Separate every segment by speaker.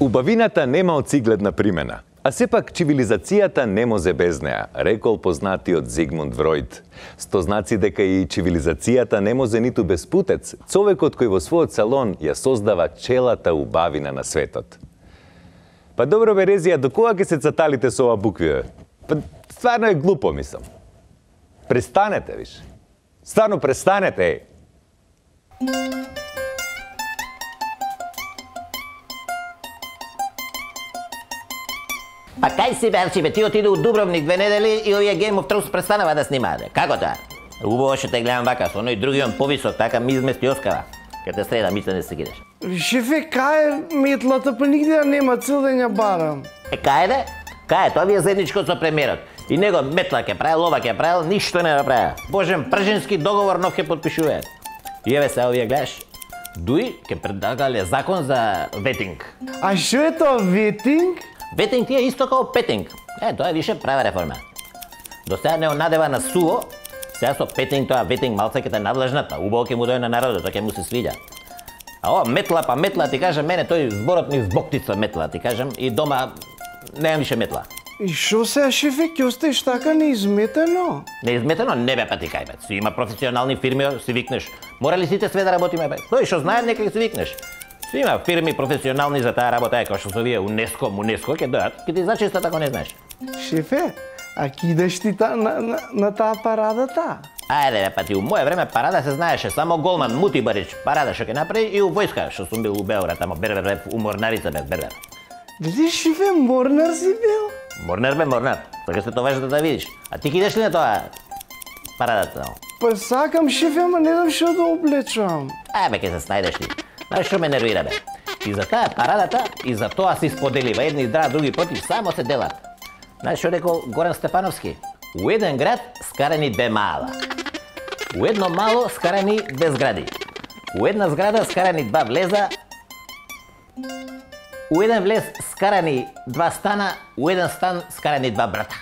Speaker 1: Убавината нема оцигледна примена, а сепак цивилизацијата не може без неа, рекол познатиот Зигмунд Фройд. Сто знаци дека и цивилизацијата не може ниту без путец, човекот кој во својот салон ја создава челата убавина на светот. Па добро Березија, до кога ќе се цаталите со ова букви? Па стварно е глупо, мислам. Престанете, виш. Стварно престанете,
Speaker 2: Па кај си бе, Арчибе, ти отиде у Дубровник 2 недели и овие Game of Thrones престанава да снимаат. Како тоа? Убаво што те гледам вака, со оној другиот повисок, така ми измести Оскара. Ке те среда, мисля не се гидеш.
Speaker 3: Шефе, кај е метлата, па нигде нема цел да ја барам.
Speaker 2: Кај де? Кај, тоа ви е заедничко со премиерот. И него метла ќе правил, ова ќе правил, ништо не направи. Божен пржински договор нов ќе потпишуваат. И еве се овие гледаш. Дуи ќе предлагале закон за ветинг.
Speaker 3: А што е тоа ветинг?
Speaker 2: Ветинг ти е исто како петинг. Тоа е више права реформа. До сега не надева на суво, сега со петинг тоа ветинг малце ќе те надлежнат, а убаво ќе му дојде на народот, тоа ќе му се свиѓа. А ова метла, па метла, ти кажам, мене тој зборот ми збоктица метла, ти кажам, и дома немам више метла.
Speaker 3: И шо сега, шефе, ќе остаеш така неизметено?
Speaker 2: Неизметено? Не бе, па ти кај бе. Си има професионални фирми, си викнеш. Мора ли сите све да работиме бе? Тој што знаат, нека си викнеш. Си има фирми професионални за таа работа, како што се вие УНЕСКО, ќе дојат, ќе ти зачистат ако не знаеш.
Speaker 3: Шефе, а кидаш ти на таа парадата?
Speaker 2: Ајде бе, па ти у моје време парада се знаеше, само голман Мути Барич парада што ќе направи и у војска, што сум бил у Београд, ама Бербер, у Морнарица бе, Бербер.
Speaker 3: Дали шефе, Морнар си бил?
Speaker 2: Морнар бе, Морнар. Така се тоа да видиш. А ти кидеш ли на тоа парадата?
Speaker 3: Па сакам, шефе, ама не знам што да облечам.
Speaker 2: Бе, ќе се снајдеш ти. Знаеш што ме нервира бе? И за таа парадата, и за тоа се споделива. Едни здрави, други против, само се делат. Знаеш што рекол Горан Стефановски? У еден град скарани две мала. У едно мало скарани две згради. У една зграда скарани два влеза. У еден влез скарани два стана, у еден стан скарани два брата.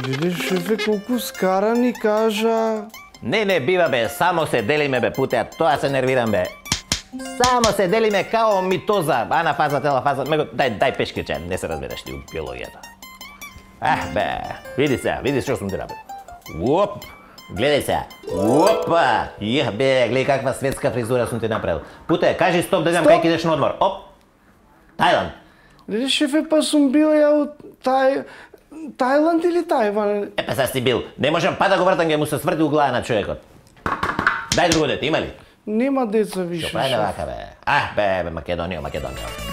Speaker 3: Леле, шефе, колку скарани кажа...
Speaker 2: Не, бива бе, само се делиме бе, путеа, тоа се нервирам бе. Само се делиме као митоза, анафаза, телафаза, дај пешкирче, не се разбереш ти у биологијата. Бе, види што сум ти направил. Уоп, гледај сега. Уопа, бе, гледај каква светска фризура сум ти направил. Путе, кажи стоп да знам кај кидеш на одмор. Оп, Тајланд.
Speaker 3: Леле, шефе, па сум бил ја од Тајланд или Тајван?
Speaker 2: Па сега си бил, не можам па да го вртам, ќе му се сврти у глава на човекот. Дај друго дете, има ли?
Speaker 3: Нема деца више.
Speaker 2: Што прави вака бе? Бе, Македонија.